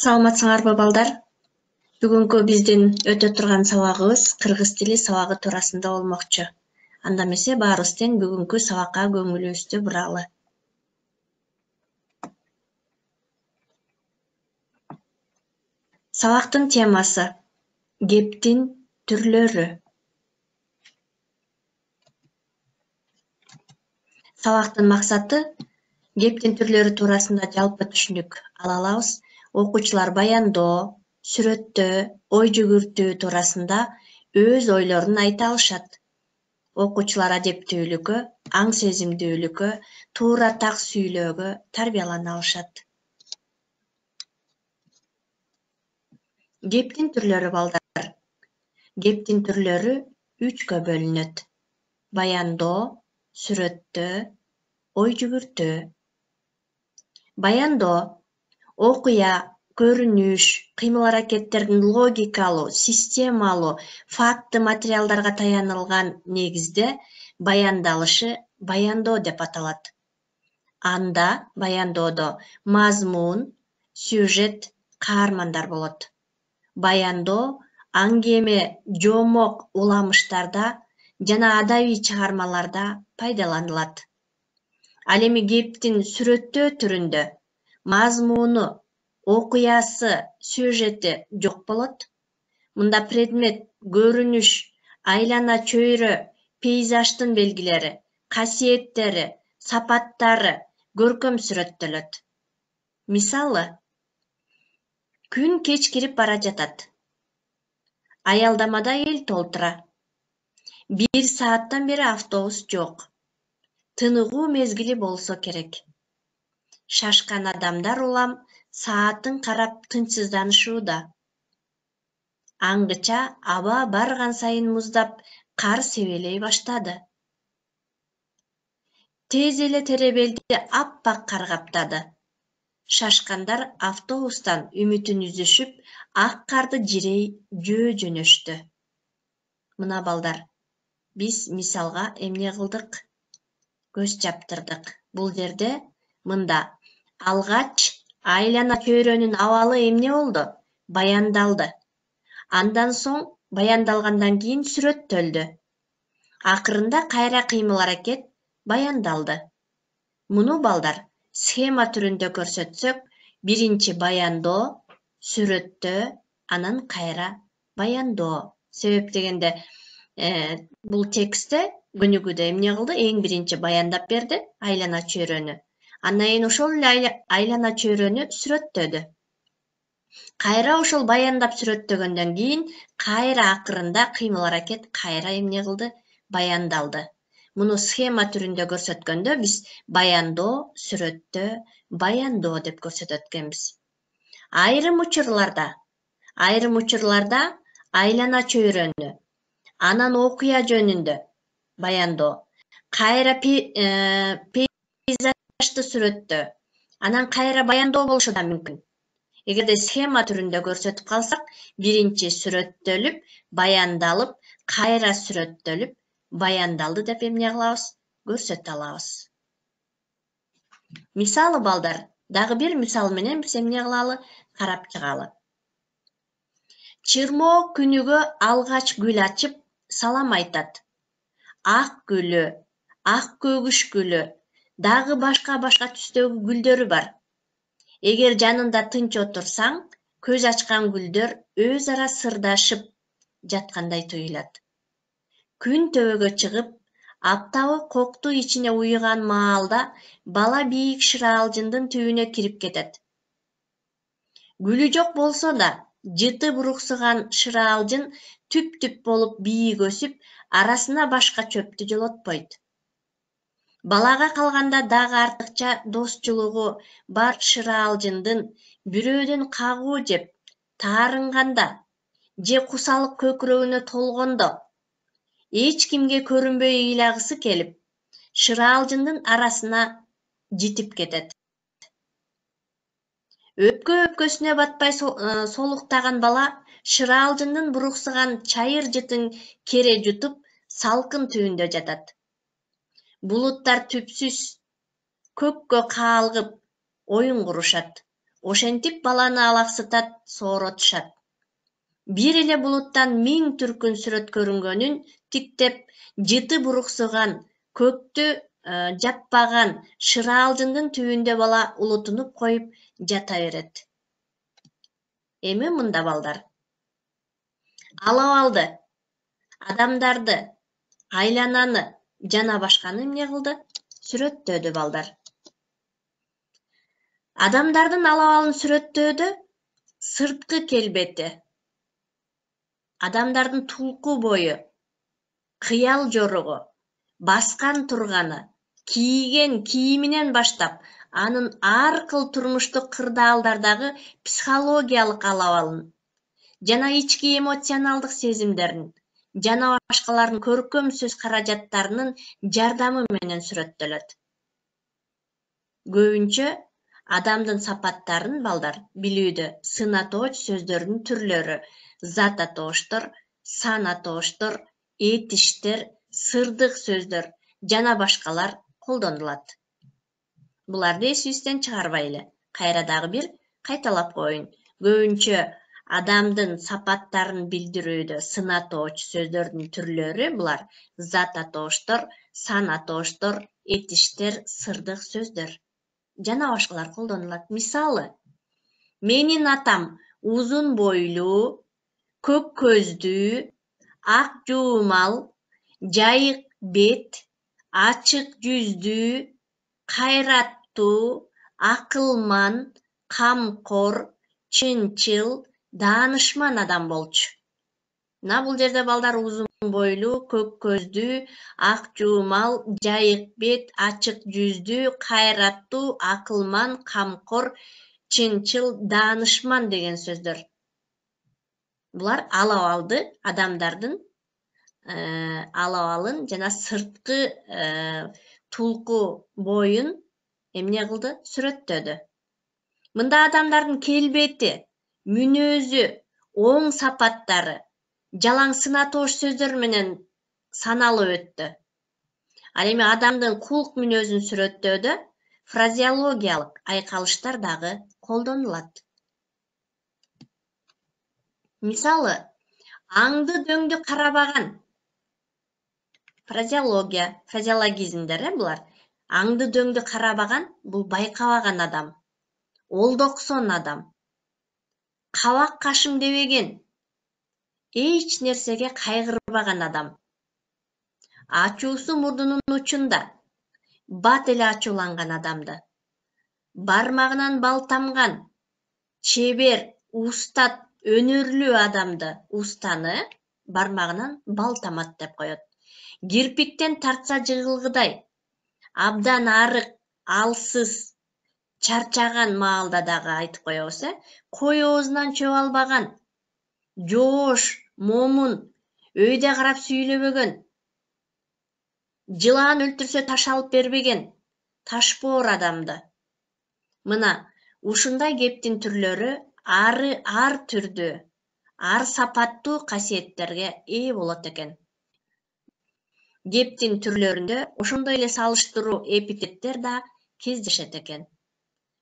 Саламатсыңарбы балдар? Бүгүнкү биздин өтө турган сабагыбыз кыргыз тили сабагы туурасында болмокчу. Анда эмесе баарыбыз тең бүгүнкү сабакка көңүлүбүздү буралы. Сабактын темасы кептин түрлөрү. Сабактын максаты кептин түрлөрү туурасында жалпы түшүнүк ала алабыз. Окуучулар баяндоо, сүрөттөө, ой жүгүртүү туурасында өз ойлорун айта алышат. Окуучулар адептүүлүккө, аң сезимдүүлүккө, туура так сүйлөөгө тарбиялана алышат. Кептин түрлөрү балдар. Кептин түрлөрү 3кө бөлүнөт. Баяндоо, сүрөттөө, ой жүгүртүү. Баяндоо окуя, көрүнүш, кыймыл-аракеттердин логикалуу, системалуу, факты материалдарга таянылган негизде баяндалышы баяндоо деп аталат. Анда баяндоодо мазмун, сюжет, каармандар болот. Баяндоо аңгеме, жомок уламыштарда жана адабий чыгармаларда пайдаланылат. Ал эми кептин сүрөттөө түрүндө мазмуну, окуясы, сюжети жок болот. Мында предмет, көрүнүш, айлана чөйрө, пейзаждын белгилери, касиеттери, сапаттары көркөм сүрөттөлөт. Мисалы, күн кечкирип бара жатат. Аялдамада эл толтура. 1 сааттан бери автобус жок. Тыныгуу мезгили болсо керек. Шашкан адамдар улам саатын карап тынчсызданышууда. Аңгыча аба барган сайын муздап, кар себелей баштады. Тез эле теребелди аппак кар каптады. Шашкандар автобустан үмүтүн үзүшүп, ак карды жирей жөө жөнөштү. Мына балдар, биз мисалга эмне кылдык? Көз чаптырдык. Бул жерде мында алгач айлана чөйрөнүн абалы эмне болду? Баяндалды. Андан соң баяндалгандан кийин сүрөттөлдү. Акырында кайра кыймыл-аракет баяндалды. Муну балдар схема түрүндө көрсөтсөк, биринчи баяндоо, сүрөттөө, анан кайра баяндоо. Себеп дегенде бул текстте көнүгүүдө эмне кылды? Эң биринчи баяндап берди айлана чөйрөнү. Андан кийин ошол эле айлана чөйрөнү сүрөттөдү. Кайра ошол баяндап сүрөттөгөндөн кийин кайра акырында кыймыл-аракет кайра эмне кылды? Баяндалды. Муну схема түрүндө көрсөткөндө биз баяндоо, сүрөттөө, баяндоо деп көрсөтөт экенбиз. Айрым учурларда айлана чөйрөнү, анан окуя жөнүндө баяндоо, кайра пейзажды сүрөттөө, анан кайра баяндоо болушу да мүмкүн. Эгерде схема түрүндө көрсөтүп калсак, биринчи сүрөттөлүп, баяндалып, кайра сүрөттөлүп, баяндалды деп эмне кылабыз? Көрсөтө алабыз. Мисалы балдар, дагы бир мисал менен биз эмне кылалы? Карап чыгалы. Чырмоо күнүгө алгач гүл ачып, салам айтат. Ак гүлү, ак көгүш гүлү, дагы башка түстөгү гүлдөрү бар. Эгер жанында тынч отурсаң, көз ачкан гүлдөр өз ара сырдашып жаткандай туюлат. Күн төбөгө чыгып, аптабы кокту ичине уюган маалда бала бийик шыралжындын түбүнө кирип кетет. Гүлү жок болсо да, жыты буруксуган шыралжын түп-түп болуп бийик өсүп, арасына башка чөптү жолотпойт. Балага калганда дагы артыкча досчулугу бар шыралжындын бирөөдөн кагуу жеп, таарынганда же кусалык көкүрөгүнө толгондо эч кимге көрүнбөй ыйлагысы келип, шыралжындын арасына житип кетет. Өпкөсүнө батпай солуктаган бала шыралжындын буруксуган чайыр жытын кере жутуп, салкын түбүндө жатат. Булуттар түпсүз көккө каалгып, оюн курушат. ошентип баланы алаксытат, сооротушат. Бир эле булуттан 1000 түркүн сүрөт көрүнгөнүн тиктеп, жыты буруксуган, көктү жаппаган шыраалжындын түбүндө бала улутунуп коюп жата берет. Эми мында балдар. Алып алды, адамдарды, айлананы жана башканы эмне кылды? Сүрөттөдү балдар. Адамдардын алабалын сүрөттөөдө сырткы келбети, адамдардын тулку бою, кыял жоругу, баскан турганы, кийген кийиминен баштап, анын ар кыл турмуштук кырдаалдардагы психологиялык алабалын жана ички эмоционалдык сезимдерин жана башкалардын көркөм сөз каражаттарынын жардамы менен сүрөттөлөт. Көбүнчө адамдын сапаттарын балдар билүүдө сын атооч сөздөрдүн түрлөрү, зат атооштор, сан атооштор, этиштер, сырдык сөздөр жана башкалар колдонулат. Буларды эсибизден чыгарбайлы. Кайра дагы бир кайталап коеюн. Көбүнчө адамдын сапаттарын билдирүүдө сын атооч сөздөрдүн түрлөрү булар зат атооштор, сан атооштор, этиштер, сырдык сөздөр жана башкалар колдонулат. Мисалы, менин атам узун бойлуу, көк көздүү, ак жуумал, жайык бет, ачык жүздүү, кайраттуу, акылман, камкор, чынчыл, даанышман адам болчу. Мына бул жерде балдар узун бойлуу, көк көздүү, ак жуумал, жайык бет, ачык жүздүү, кайраттуу, акылман, камкор, чынчыл, даанышман деген сөздөр. Булар алабалды адамдардын алабалын жана сырткы тулку боюн эмне кылды? Сүрөттөдү. Мында адамдардын келбети, мүнөзү, оң сапаттары жалаң сын атоош сөздөр менен саналып өттү. Ал эми адамдын кулк мүнөзүн сүрөттөөдө фразеологиялык айкалыштар дагы колдонулат. Мисалы, аңды дөңдү карабаган. Фразеологизмдер булар. Аңды дөңдү карабаган бул байкабаган адам, олдоксон адам, кабак кашым дебеген, эч нерсеге кайгырбаган адам. Ачуусу мурдунун учунда, бат эле ачууланган адамды. Бармагынан бал тамган, чебер, устат, өнөрлүү адамды, устаны бармагынан бал тамат деп коет. Кирпиктен тартса жыгылгыдай, абдан арык, алсыз, чарчаган маалда дагы айтып коебуз, кой оозунан чөп албаган, жоош, момун, өйдө карап сүйлөбөгөн, жылаан өлтүрсө таш алып бербеген, ташбоор адамды. Мына ушундай кептин түрлөрү ар түрдүү, ар сапаттуу касиеттерге ээ болот экен. Кептин түрлөрүндө ошондой эле салыштыруу эпитеттер да кездешет экен.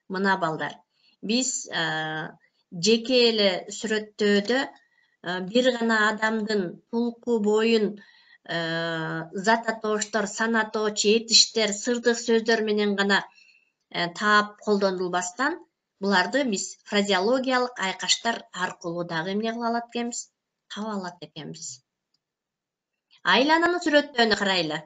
Мына балдар, биз жеке эле сүрөттөөдө бир гана адамдын тулку боюн зат атооштор, сан атооч, этиштер, сырдык сөздөр менен гана таап колдонулбастан, буларды биз фразеологиялык айкаштар аркылуу дагы эмне кыла алат экенбиз? Таба алат экенбиз. Айлананы сүрөттөөнү карайлы.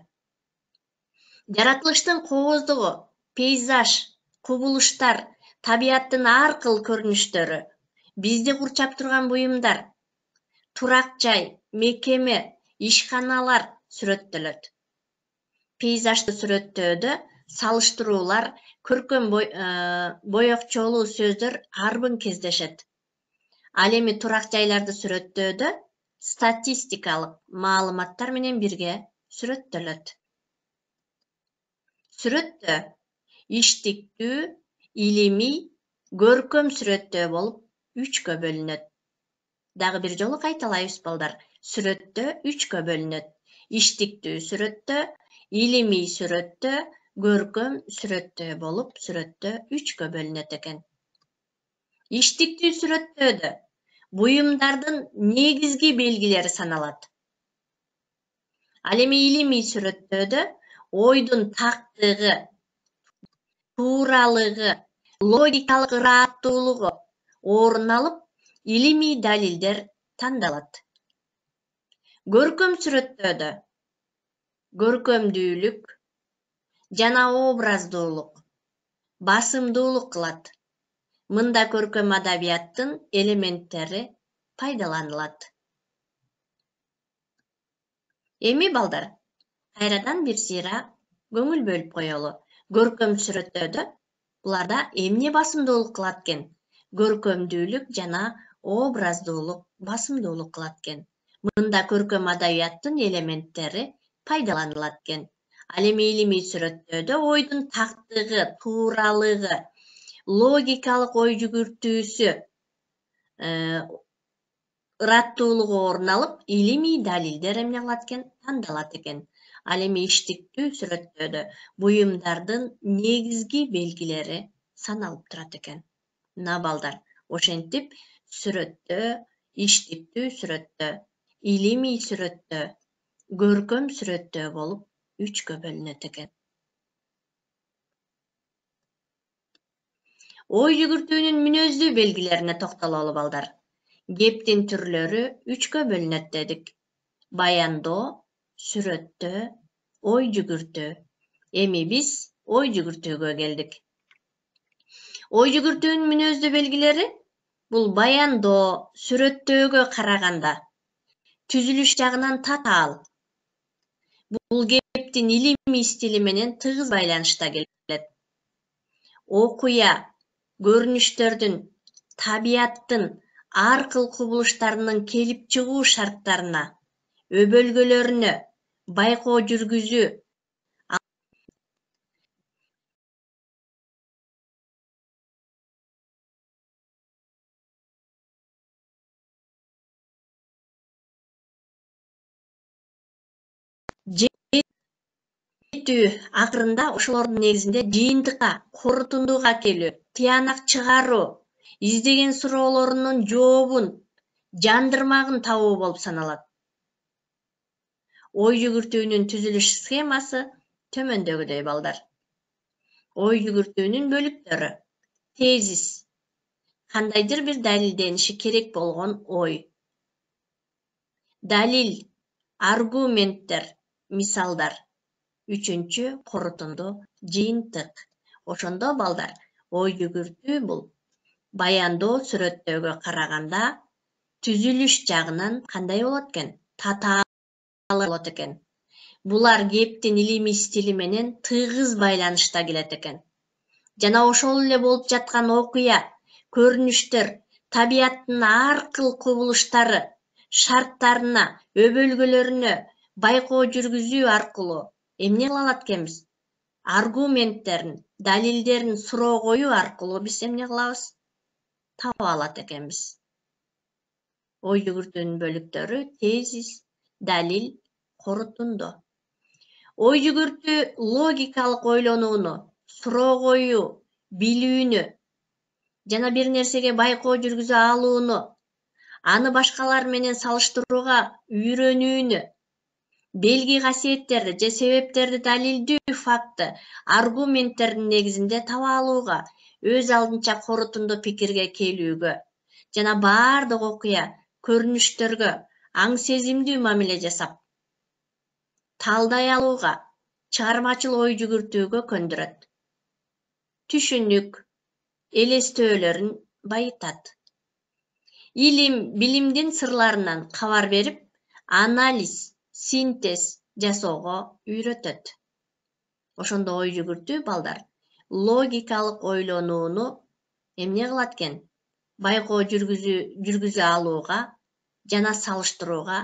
Жаратылыштын кооздугу, пейзаж, кубулуштар, табияттын ар кыл көрүнүштөрү, бизди курчап турган буюмдар, турак жай, мекеме, ишканалар сүрөттөлөт. Пейзажды сүрөттөөдө салыштыруулар, көркөм боекчолуу сөздөр арбын кездешет. Ал эми турак жайларды сүрөттөөдө статистикалык маалыматтар менен бирге сүрөттөлөт. Сүрөттөө иштиктүү, илимий, көркөм сүрөттөө болуп 3кө бөлүнөт. Дагы бир жолу кайталайбыз балдар. Сүрөттөө 3кө бөлүнөт. Иштиктүү сүрөттөө, илимий сүрөттөө, көркөм сүрөттөө болуп сүрөттөө 3кө бөлүнөт экен. Иштиктүү сүрөттөөдө буюмдардын негизги белгилери саналат. Ал эми илимий сүрөттөөдө ойдун тактыгы, тууралыгы, логикалык ырааттуулугу орун алып, илимий далилдер тандалат. Көркөм сүрөттөөдө көркөмдүүлүк жана образдуулук басымдуулук кылат. Мында көркөм адабияттын элементтери пайдаланылат. Эми балдар, кайрадан бир сыйра көңүл бөлүп коелу. Көркөм сүрөттөөдө буларда эмне басымдуулук кылат экен? Көркөмдүүлүк жана образдуулук басымдуулук кылат экен. Мында көркөм адабияттын элементтери пайдаланылат экен. Ал эми илимий сүрөттөөдө ойдун тактыгы, тууралыгы, логикалык ой жүгүртүүсү, ыраттуулугу орун алып, илимий далилдер эмне кылат экен? Тандалат экен. Ал эми иштиктүү сүрөттөөдө буюмдардын негизги белгилери саналып турат экен. Мына балдар, ошентип сүрөттө, иштиктүү сүрөттө, илимий сүрөттө, көркөм сүрөттө болуп 3кө бөлүнөт экен. Ой жүгүртүүнүн мүнөздүү белгилерине токтололу балдар. Кептин түрлөрү 3кө бөлүнөт дедик. Баяндоо, сүрөттөө, ой жүгүртүү. Эми биз ой жүгүртүүгө келдик. Ой жүгүртүүнүн мүнөздүү белгилери бул баяндоо, сүрөттөөгө караганда түзүлүш жагынан татаал. Бул кептин илимий стили менен тыгыз байланышта келет. Окуя, көрүнүштөрдүн, табияттын ар кыл кубулуштарынын келип чыгуу шарттарына, өбөлгөлөрүнө байкоо жүргүзүү, акырында ошолордун негизинде жыйынтыкка, корутундууга келүү, тыянак чыгаруу, издеген суроолорунун жообун, жандырмагын табуу болуп саналат. Ой жүгүртүүнүн түзүлүш схемасы төмөндөгүдөй балдар. Ой жүгүртүүнүн бөлүктөрү: тезис, кандайдыр бир далилдениши керек болгон ой. Далил, аргументтер, мисалдар. Үчүнчү корутунду, жыйынтык. Ошондо балдар, ой жүгүртүү бул баяндоо, сүрөттөөгө караганда түзүлүш жагынан кандай болот экен? Татаал болот экен. Булар кептин илимий стили менен тыгыз байланышта келет экен. Жана ошол эле болуп жаткан окуя, көрүнүштөр, табияттын ар кыл кубулуштары, шарттарына, өбөлгөлөрүнө байкоо жүргүзүү аркылуу эмне кыла алат экенбиз? Аргументтерин, далилдерин суроо коюу аркылуу биз эмне кылабыз? Таба алат экенбиз. Ой жүгүртүүнүн бөлүктөрү: тезис, далил, корутунду. Ой жүгүртүү логикалык ойлонууну, суроо коюу, билүүнү жана бир нерсеге байкоо жүргүзө алууну, аны башкалар менен салыштырууга үйрөнүүнү, белги касиеттерди же себептерди далилдүү факты, аргументтердин негизинде таба алууга, өз алдынча корутунду пикирге келүүгө жана баардык окуя, көрүнүштөргө аң сезимдүү мамиле жасап, талдай алууга, чыгармачыл ой жүгүртүүгө көндүрөт. Түшүнүк, элестөөлөрүн байытат. Илим, билимдин сырларынан кабар берип, анализ, синтез жасоого үйрөтөт. Ошондо ой жүгүртүү балдар логикалык ойлонууну эмне кылат экен? Байкоо жүргүзө алууга жана салыштырууга,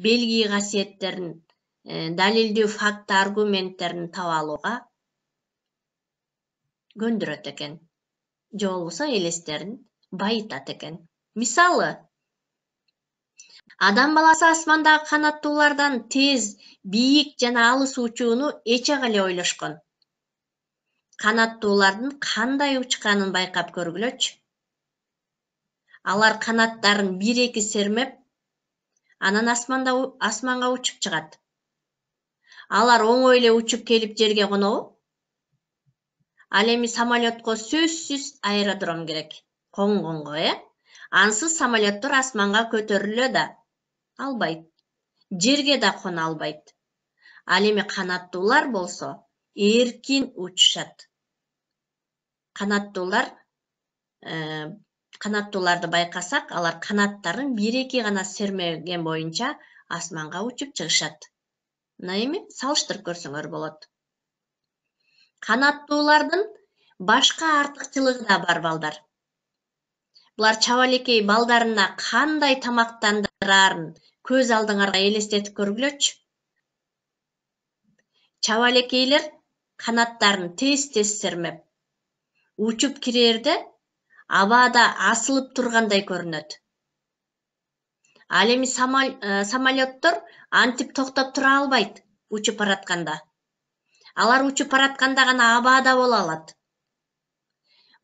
белги касиеттерин, далилдүү факт, аргументтерин таба алууга көндүрөт экен. Же болбосо элестерин байытат экен. Мисалы, адам баласы асмандагы канаттуулардан тез, бийик жана алыс учууну эч ак эле ойлошкон. Канаттуулардын кандай учканын байкап көргүлөчү. Алар канаттарын 1-2 сермеп, анан асманга учуп чыгат. Алар оңой эле учуп келип жерге конобу? Ал эми самолетко сөзсүз аэродром керек. Конгонго, Ансыз самолеттор асманга көтөрүлө да албайт. Жерге да кона албайт. Ал эми канаттуулар болсо эркин учушат. Канаттууларды байкасак, алар канаттарын 1-2 гана сермеген боюнча асманга учуп чыгышат. Мына эми салыштырып көрсөңөр болот. Канаттуулардын башка артыкчылыгы да бар, балдар. Булар чабалекей балдарына кандай тамактандырарын көз алдыңарга элестетип көргүлөчү. Чабалекейлер канаттарын тез-тез сермеп, учуп кирерде абада асылып тургандай көрүнөт. Ал эми самолеттор антип токтоп тура албайт учуп баратканда. Алар учуп баратканда гана абада боло алат.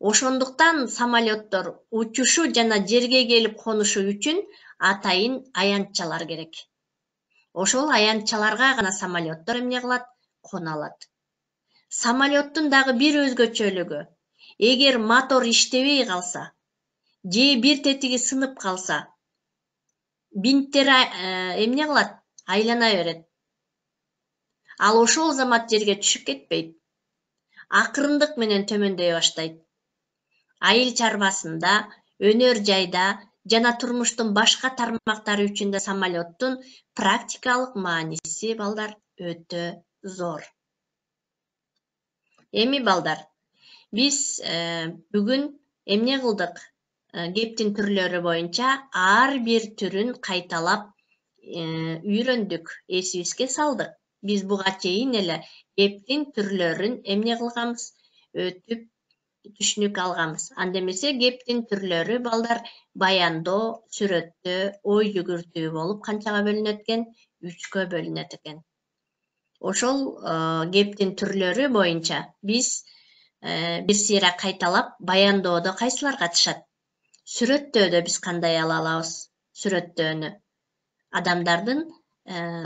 Ошондуктан самолеттор учушу жана жерге келип конушу үчүн атайын аянтчалар керек. Ошол аянтчаларга гана самолеттор эмне кылат? Кона алат. Самолеттун дагы бир өзгөчөлүгү, эгер мотор иштебей калса, же бир тетиги сынып калса, бинттер эмне кылат? Айлана берет. Ал ошол замат жерге түшүп кетпейт. Акырындык менен төмөндөй баштайт. Айыл чарбасында, өнөр жайда жана турмуштун башка тармактары үчүн да самолеттун практикалык мааниси, балдар, өтө зор. Эми балдар, биз бүгүн эмне кылдык? Кептин түрлөрү боюнча ар бир түрүн кайталап үйрөндүк, эсибизге салдык. Биз буга чейин эле кептин түрлөрүн эмне кылганбыз? Өтүп түшүнүк алганбыз. Анда эмесе кептин түрлөрү, балдар, баяндоо, сүрөттөө, ой жүгүртүү болуп канчага бөлүнөт экен? 3кө бөлүнөт экен. Ошол кептин түрлөрү боюнча биз бир сыйра кайталап, баяндоодо кайсылар катышат? Сүрөттөөдө биз кандай ала алабыз? Сүрөттөөнү адамдардын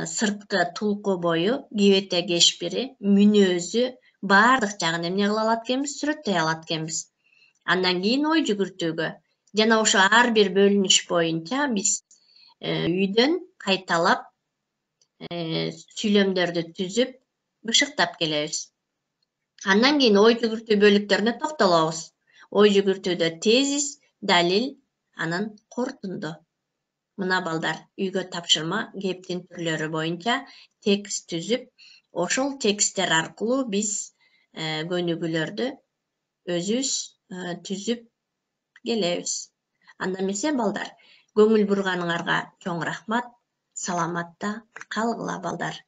сырткы тулку бою, кибете кешпири, мүнөзү, баардык жагын эмне кыла алат экенбиз? Сүрөттөй алат экенбиз. Андан кийин ой жүгүртүүгө жана ошо ар бир бөлүнүш боюнча биз үйдөн кайталап сүйлөмдөрдү түзүп, бышыктап келебиз. Андан кийин ой жүгүртүү бөлүктөрүнө токтолобуз. Ой жүгүртүүдө тезис, далил, анан корутунду. Мына балдар, үйгө тапшырма кептин түрлөрү боюнча текст түзүп, ошол тексттер аркылуу биз көнүгүүлөрдү өзүбүз түзүп келебиз. Анда эмесе балдар, көңүл бурганыңарга чоң рахмат. Саламатта калгыла, балдар.